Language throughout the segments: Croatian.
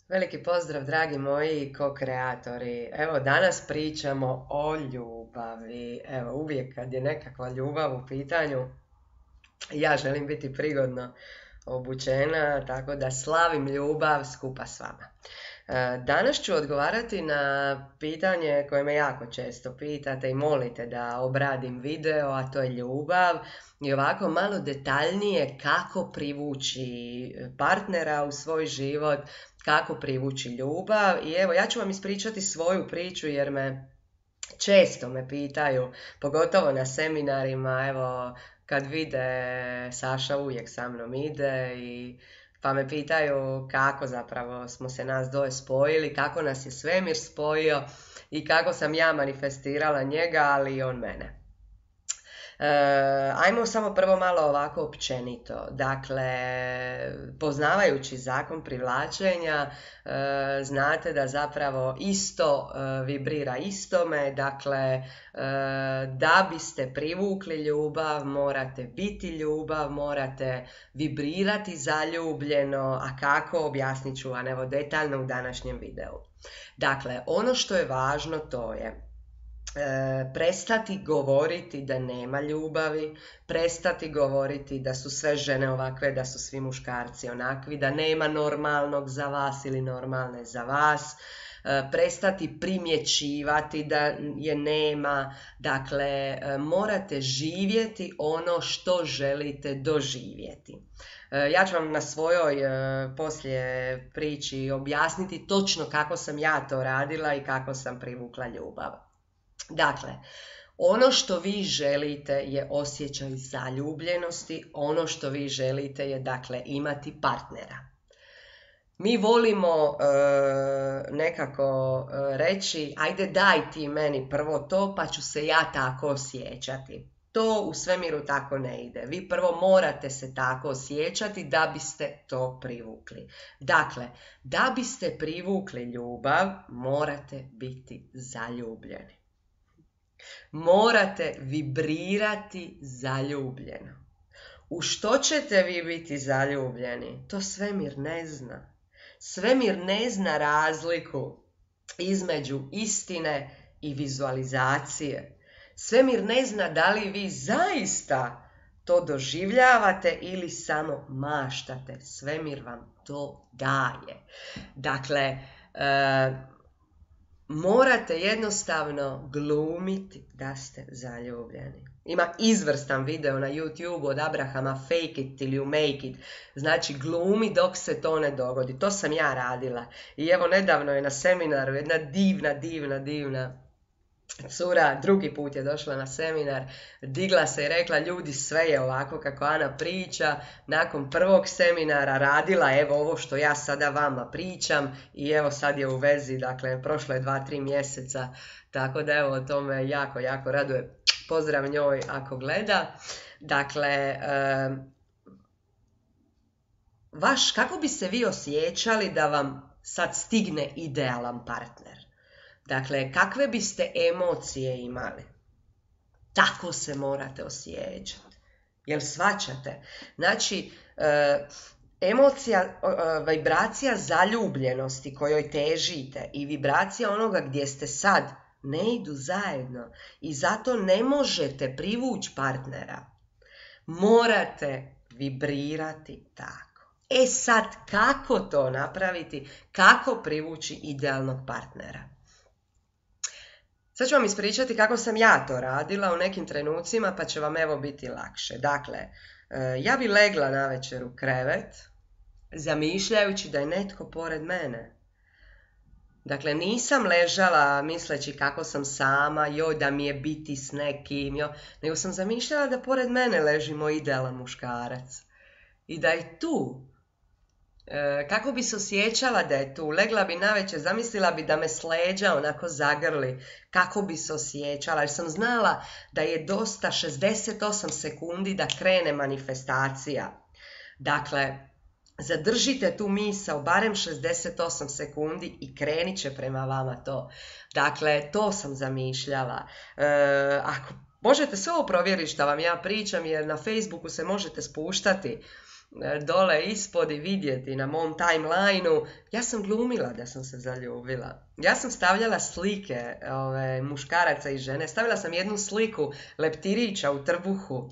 Veliki pozdrav, dragi moji ko-kreatori. Evo, danas pričamo o ljubavi. Evo, uvijek kad je nekakva ljubav u pitanju, ja želim biti prigodno obučena, tako da slavim ljubav skupa s vama. Danas ću odgovarati na pitanje koje me jako često pitate i molite da obradim video, a to je ljubav. I ovako malo detaljnije kako privući partnera u svoj život, kako privući ljubav. I evo, ja ću vam ispričati svoju priču jer često me pitaju, pogotovo na seminarima, evo, kad vide, Saša uvijek sa mnom ide pa me pitaju kako zapravo smo se nas dvoje spojili, kako nas je svemir spojio i kako sam ja manifestirala njega, ali i on mene. Ajmo samo prvo malo ovako općenito. Dakle, poznavajući zakon privlačenja, znate da zapravo isto vibrira istome. Dakle, da biste privukli ljubav, morate biti ljubav, morate vibrirati zaljubljeno, a kako, objasnit ću vam evo detaljno u današnjem videu. Dakle, ono što je važno to je prestati govoriti da nema ljubavi, prestati govoriti da su sve žene ovakve, da su svi muškarci onakvi, da nema normalnog za vas ili normalne za vas, prestati primjećivati da je nema. Dakle, morate živjeti ono što želite doživjeti. Ja ću vam na svojoj poslije priči objasniti točno kako sam ja to radila i kako sam privukla ljubav. Dakle, ono što vi želite je osjećaj zaljubljenosti, ono što vi želite je, dakle, imati partnera. Mi volimo nekako reći, ajde daj ti meni prvo to pa ću se ja tako osjećati. To u svemiru tako ne ide. Vi prvo morate se tako osjećati da biste to privukli. Dakle, da biste privukli ljubav, morate biti zaljubljeni. Morate vibrirati zaljubljeno. U što ćete vi biti zaljubljeni? To svemir ne zna. Svemir ne zna razliku između istine i vizualizacije. Svemir ne zna da li vi zaista to doživljavate ili samo maštate. Svemir vam to daje. Dakle, morate jednostavno glumiti da ste zaljubljeni. Ima izvrstan video na YouTube od Abrahama Fake it till you make it. Znači glumi dok se to ne dogodi. To sam ja radila. I evo nedavno je na seminaru jedna divna cura, drugi put je došla na seminar, digla se i rekla, ljudi, sve je ovako kako Ana priča. Nakon prvog seminara radila evo ovo što ja sada vama pričam i evo sad je u vezi, dakle prošlo je 2-3 mjeseca, tako da evo to me jako raduje. Pozdrav njoj ako gleda. Dakle, kako bi se vi osjećali da vam sad stigne idealan partner? Dakle, kakve biste emocije imali? Tako se morate osjećati. Jel shvaćate? Znači, emocija, vibracija zaljubljenosti kojoj težite i vibracija onoga gdje ste sad ne idu zajedno i zato ne možete privući partnera. Morate vibrirati tako. E sad, kako to napraviti? Kako privući idealnog partnera? Sad ću vam ispričati kako sam ja to radila u nekim trenucima, pa će vam evo biti lakše. Dakle, ja bi legla navečer u krevet, zamišljajući da je netko pored mene. Dakle, nisam ležala misleći kako sam sama, joj da mi je biti s nekim, nego sam zamišljala da pored mene leži moj idealan muškarac. I da je tu. Kako bi se osjećala da je tu? Legla bi navečer, zamislila bi da me s leđa onako zagrli. Kako bi se osjećala? Jer sam znala da je dosta 68 sekundi da krene manifestacija. Dakle, zadržite tu misao barem 68 sekundi i krenit će prema vama to. Dakle, to sam zamišljala. Ako možete sve ovo provjeriti što vam ja pričam, jer na Facebooku se možete spuštati dole ispod i vidjeti na mom timelineu, ja sam glumila da sam se zaljubila. Ja sam stavljala slike muškaraca i žene. Stavila sam jednu sliku leptirića u trbuhu.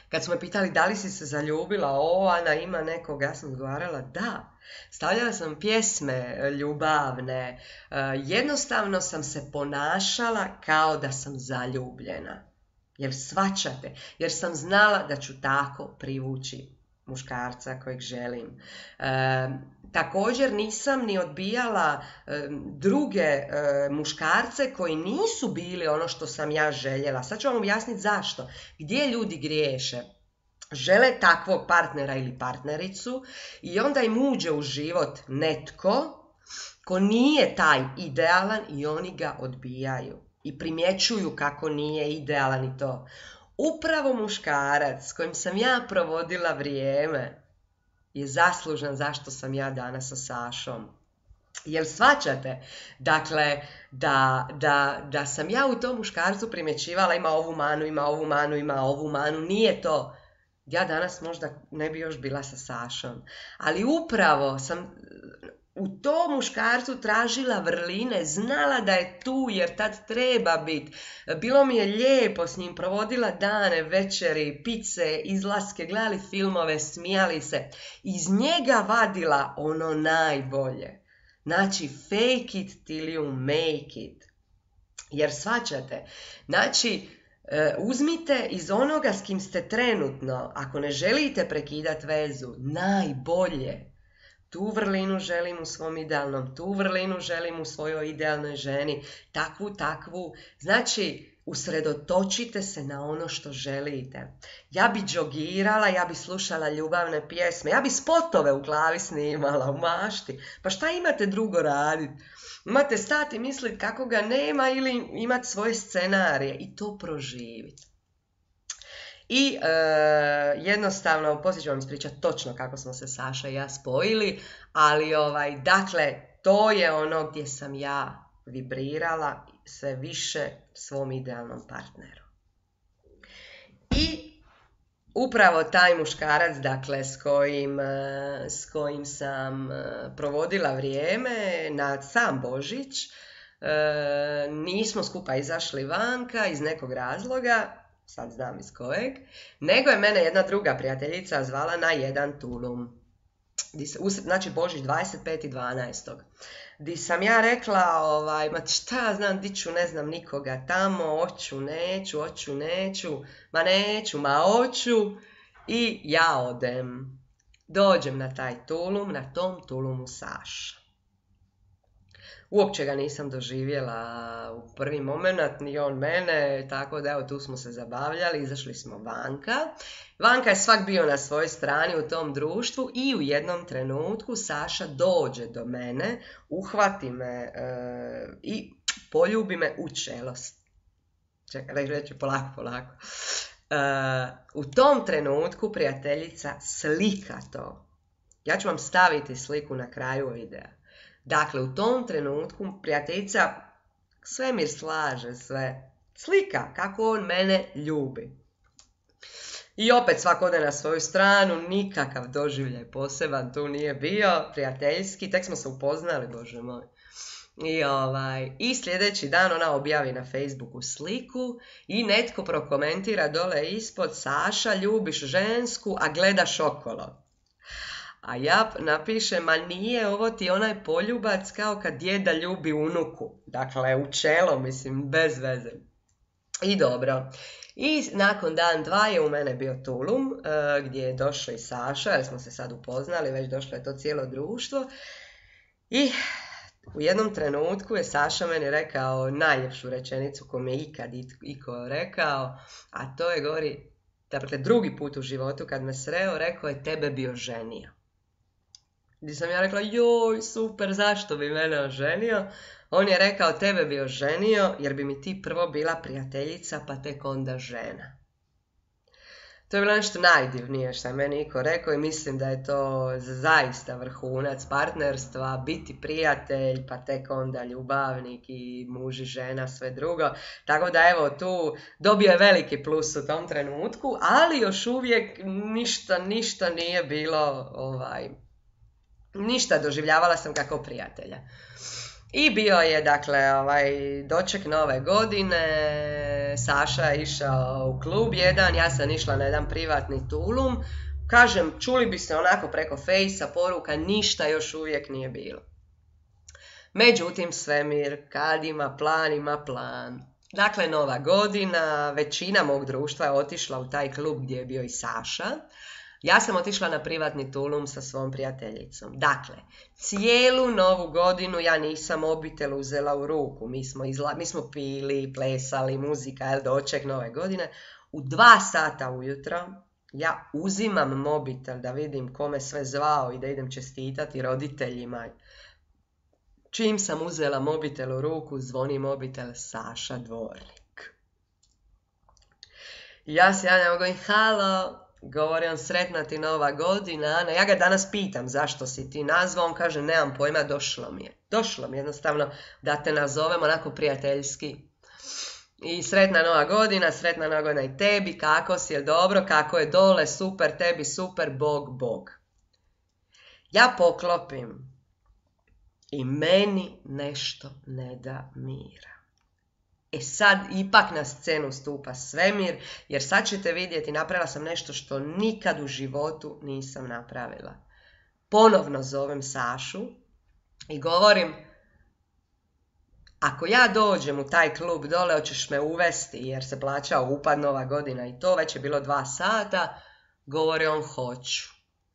Kad su me pitali da li si se zaljubila, Ana ima nekog, ja sam odgovarala da. Stavljala sam pjesme ljubavne, jednostavno sam se ponašala kao da sam zaljubljena. Jer shvaćate, jer sam znala da ću tako privući muškarca kojeg želim. Također nisam ni odbijala druge muškarce koji nisu bili ono što sam ja željela. Sad ću vam objasniti zašto. Gdje ljudi griješe? Žele takvog partnera ili partnericu i onda im uđe u život netko ko nije taj idealan i oni ga odbijaju. I primjećuju kako nije idealan i to. Upravo muškarac s kojim sam ja provodila vrijeme je zaslužan zašto sam ja danas sa Sašom. Jel shvaćate? Dakle, da sam ja u tom muškarcu primjećivala ima ovu manu, ima ovu manu, ima ovu manu, nije to. Ja danas možda ne bi još bila sa Sašom. Ali upravo sam u tom muškarcu tražila vrline, znala da je tu jer tad treba biti. Bilo mi je lijepo s njim, provodila dane, večeri, pice, izlaske, gledali filmove, smijali se. Iz njega vadila ono najbolje. Znači, fake it till you make it. Jer shvaćate, znači, uzmite iz onoga s kim ste trenutno, ako ne želite prekidati vezu, najbolje. Tu vrlinu želim u svom idealnom, tu vrlinu želim u svojoj idealnoj ženi, takvu. Znači, usredotočite se na ono što želite. Ja bi džogirala, ja bi slušala ljubavne pjesme, ja bi spotove u glavi snimala, u mašti. Pa šta imate drugo raditi? Imate stati misliti kako ga nema ili imati svoje scenarije i to proživiti. I jednostavno, poslije ću vam ispričati točno kako smo se Saša i ja spojili, ali dakle, to je ono gdje sam ja vibrirala sve više svom idealnom partneru. I upravo taj muškarac, dakle, s kojim sam provodila vrijeme na sam Božić, nismo skupa izašli vanka iz nekog razloga, sad znam iz kojeg, nego je mene jedna druga prijateljica zvala na jedan tulum. Znači Božić 25.12. Di sam ja rekla, ma šta ja znam, di ću, ne znam nikoga tamo, hoću, neću, ma hoću i ja odem. Dođem na taj tulum, na tom tulumu Saša. Uopće ga nisam doživjela u prvi moment, ni on mene, tako da evo tu smo se zabavljali, izašli smo vanka. Vanka je svak bio na svojoj strani u tom društvu i u jednom trenutku Saša dođe do mene, uhvati me i poljubi me u čelost. Čekaj, reći polako. U tom trenutku prijateljica slika to. Ja ću vam staviti sliku na kraju videa. Dakle, u tom trenutku prijateljica svemir slaže sve. Slika kako on mene ljubi. I opet svak ode na svoju stranu, nikakav doživljaj poseban tu nije bio, prijateljski, tek smo se upoznali, Bože moj. I sljedeći dan ona objavi na Facebooku sliku i netko prokomentira dole ispod: Saša, ljubiš žensku, a gledaš okolo. A ja napišem: ma nije, ovo ti onaj poljubac kao kad djeda ljubi unuku. Dakle, u čelo, mislim, bez veze. I dobro. I nakon dan, dva je u mene bio tulum, gdje je došao i Saša, jer smo se sad upoznali, već došlo je to cijelo društvo. I u jednom trenutku je Saša meni rekao najljepšu rečenicu koju mi je ikad iko rekao, a to je, govori, dakle, drugi put u životu kad me sreo, rekao je: tebe bi oženio. Gdje sam ja rekla: joj, super, zašto bi mene oženio? On je rekao: tebe bi oženio jer bi mi ti prvo bila prijateljica, pa tek onda žena. To je bilo nešto najdivnije što je meni Niko rekao i mislim da je to zaista vrhunac partnerstva, biti prijatelj, pa tek onda ljubavnik i muž i žena, sve drugo. Tako da evo tu dobio je veliki plus u tom trenutku, ali još uvijek ništa nije bilo, ništa, doživljavala sam kako prijatelja. I bio je, dakle, doček nove godine, Saša je išao u klub jedan, ja sam išla na jedan privatni tulum. Kažem, čuli bi se onako preko fejsa, poruka, ništa još uvijek nije bilo. Međutim, svemir, kad ima plan, ima plan. Dakle, nova godina, većina mog društva je otišla u taj klub gdje je bio i Saša. Ja sam otišla na privatni tulum sa svom prijateljicom. Dakle, cijelu novu godinu ja nisam mobitel uzela u ruku. Mi smo pili, plesali, muzika, doček nove godine. U 2 sata ujutro ja uzimam mobitel da vidim kome sve zvao i da idem čestitati roditeljima. Čim sam uzela mobitel u ruku, zvoni mobitel Saša Dvornik. Ja se javljam, govorim, halo. Govori on, sretna ti nova godina. Ana, ja ga danas pitam zašto si ti nazvao, on kaže nemam pojma, došlo mi je. Došlo mi jednostavno da te nazovem onako prijateljski. I sretna nova godina i tebi, kako si, je dobro, kako je dole, super, tebi super, Bog. Ja poklopim i meni nešto ne da mira. Sad ipak na scenu stupa svemir, jer sad ćete vidjeti, napravila sam nešto što nikad u životu nisam napravila. Ponovno zovem Sašu i govorim, ako ja dođem u taj klub dole, hoćeš me uvesti, jer se plaćao upad nova godina i to, već je bilo 2 sata, govori on, hoću.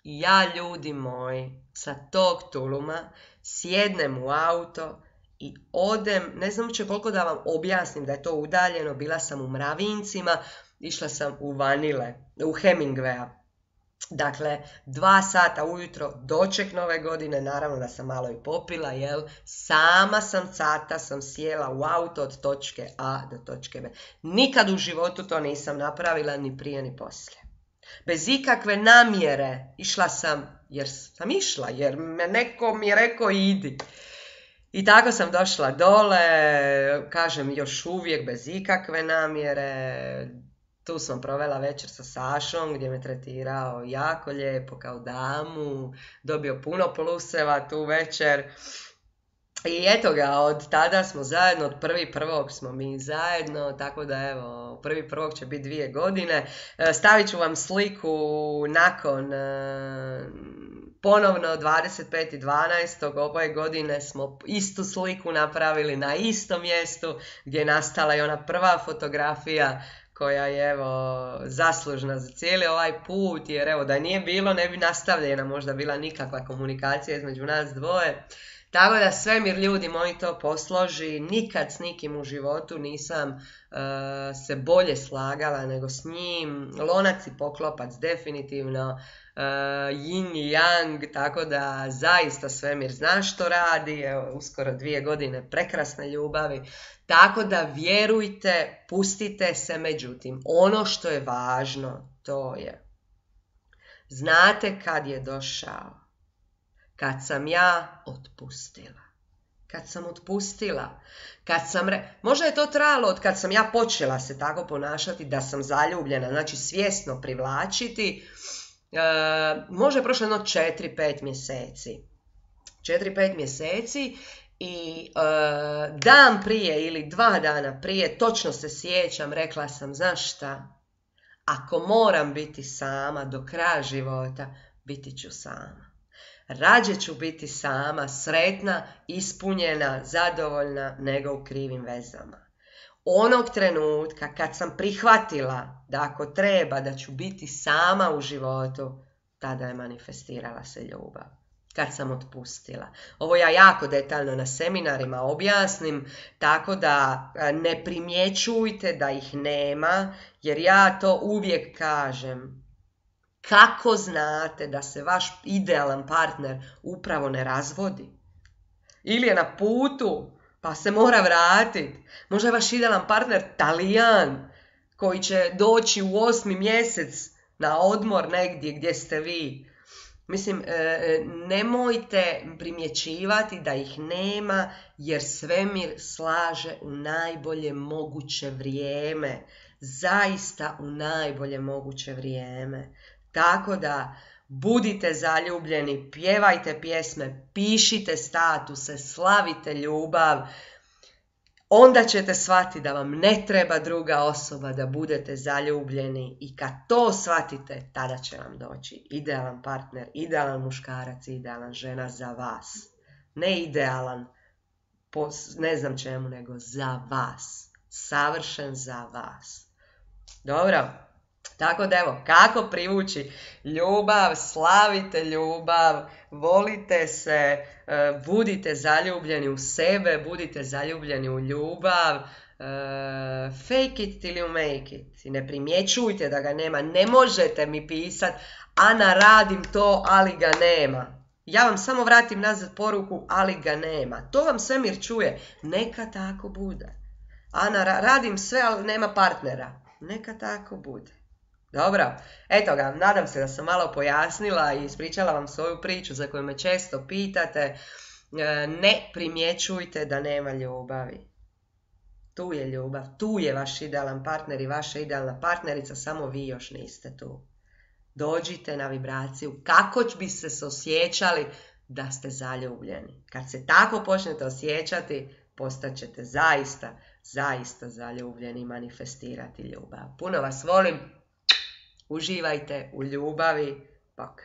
I ja, ljudi moji, sa tog tuluma sjednem u auto i odem, ne znam uopće koliko da vam objasnim da je to udaljeno, bila sam u Mravincima, išla sam u Vanile, u Hemingwaya. Dakle, 2 sata ujutro, doček nove godine, naravno da sam malo i popila, sama sam sjela u auto od točke A do točke B. Nikad u životu to nisam napravila, ni prije ni poslije. Bez ikakve namjere, išla sam, jer me neko mi je rekao idi. I tako sam došla dole, kažem još uvijek bez ikakve namjere. Tu sam provela večer sa Sašom gdje me tretirao jako lijepo kao damu, dobio puno pluseva tu večer. I eto ga, od tada smo zajedno, od 1.1. smo mi zajedno, tako da evo, 1.1. će biti 2 godine. Stavit ću vam sliku nakon ponovno 25.12. ove godine smo istu sliku napravili na istom mjestu gdje je nastala i ona prva fotografija koja je evo zaslužna za cijeli ovaj put, jer evo da nije bilo ne bi nastavljena možda bila nikakva komunikacija između nas dvoje. Tako da svemir, ljudi moji, to posloži, nikad s nikim u životu nisam se bolje slagala nego s njim, lonac i poklopac definitivno, yin i yang, tako da zaista svemir zna što radi, evo, uskoro 2 godine prekrasne ljubavi, tako da vjerujte, pustite se, međutim, ono što je važno, to je, znate kad je došao? Kad sam ja otpustila. Možda je to trajalo od kad sam ja počela se tako ponašati da sam zaljubljena, znači svjesno privlačiti, možda je prošlo jedno 4-5 mjeseci. 4-5 mjeseci i dan prije ili 2 dana prije, točno se sjećam, rekla sam, znaš šta, ako moram biti sama do kraja života, biti ću sama. Rađe ću biti sama, sretna, ispunjena, zadovoljna, nego u krivim vezama. Onog trenutka kad sam prihvatila da ako treba da ću biti sama u životu, tada je manifestirala se ljubav. Kad sam otpustila. Ovo ja jako detaljno na seminarima objasnim, tako da ne primjećujte da ih nema, jer ja to uvijek kažem. Kako znate da se vaš idealan partner upravo ne razvodi? Ili je na putu, pa se mora vratiti. Možda je vaš idealan partner Talijan, koji će doći u 8. mjesec na odmor negdje gdje ste vi. Mislim, nemojte primjećivati da ih nema, jer svemir slaže u najbolje moguće vrijeme. Zaista u najbolje moguće vrijeme. Tako da budite zaljubljeni, pjevajte pjesme, pišite statuse, slavite ljubav. Onda ćete shvatiti da vam ne treba druga osoba da budete zaljubljeni i kad to shvatite, tada će vam doći idealan partner, idealan muškarac, idealan žena za vas. Ne idealan po ne znam čemu, nego za vas. Savršen za vas. Dobro? Tako da evo, kako privući ljubav, slavite ljubav, volite se, budite zaljubljeni u sebe, budite zaljubljeni u ljubav, fake it till you make it. I ne primjećujte da ga nema, ne možete mi pisati, Ana radim to, ali ga nema. Ja vam samo vratim nazad poruku, ali ga nema. To vam svemir čuje, neka tako bude. Ana, radim sve, ali nema partnera. Neka tako bude. Dobro, eto ga, nadam se da sam malo pojasnila i ispričala vam svoju priču za koju me često pitate. Ne primjećujte da nema ljubavi. Tu je ljubav, tu je vaš idealan partner i vaša idealna partnerica, samo vi još niste tu. Dođite na vibraciju, kako bi se osjećali da ste zaljubljeni. Kad se tako počnete osjećati, postaćete zaista zaljubljeni i manifestirati ljubav. Puno vas volim. Uživajte u ljubavi. Bok.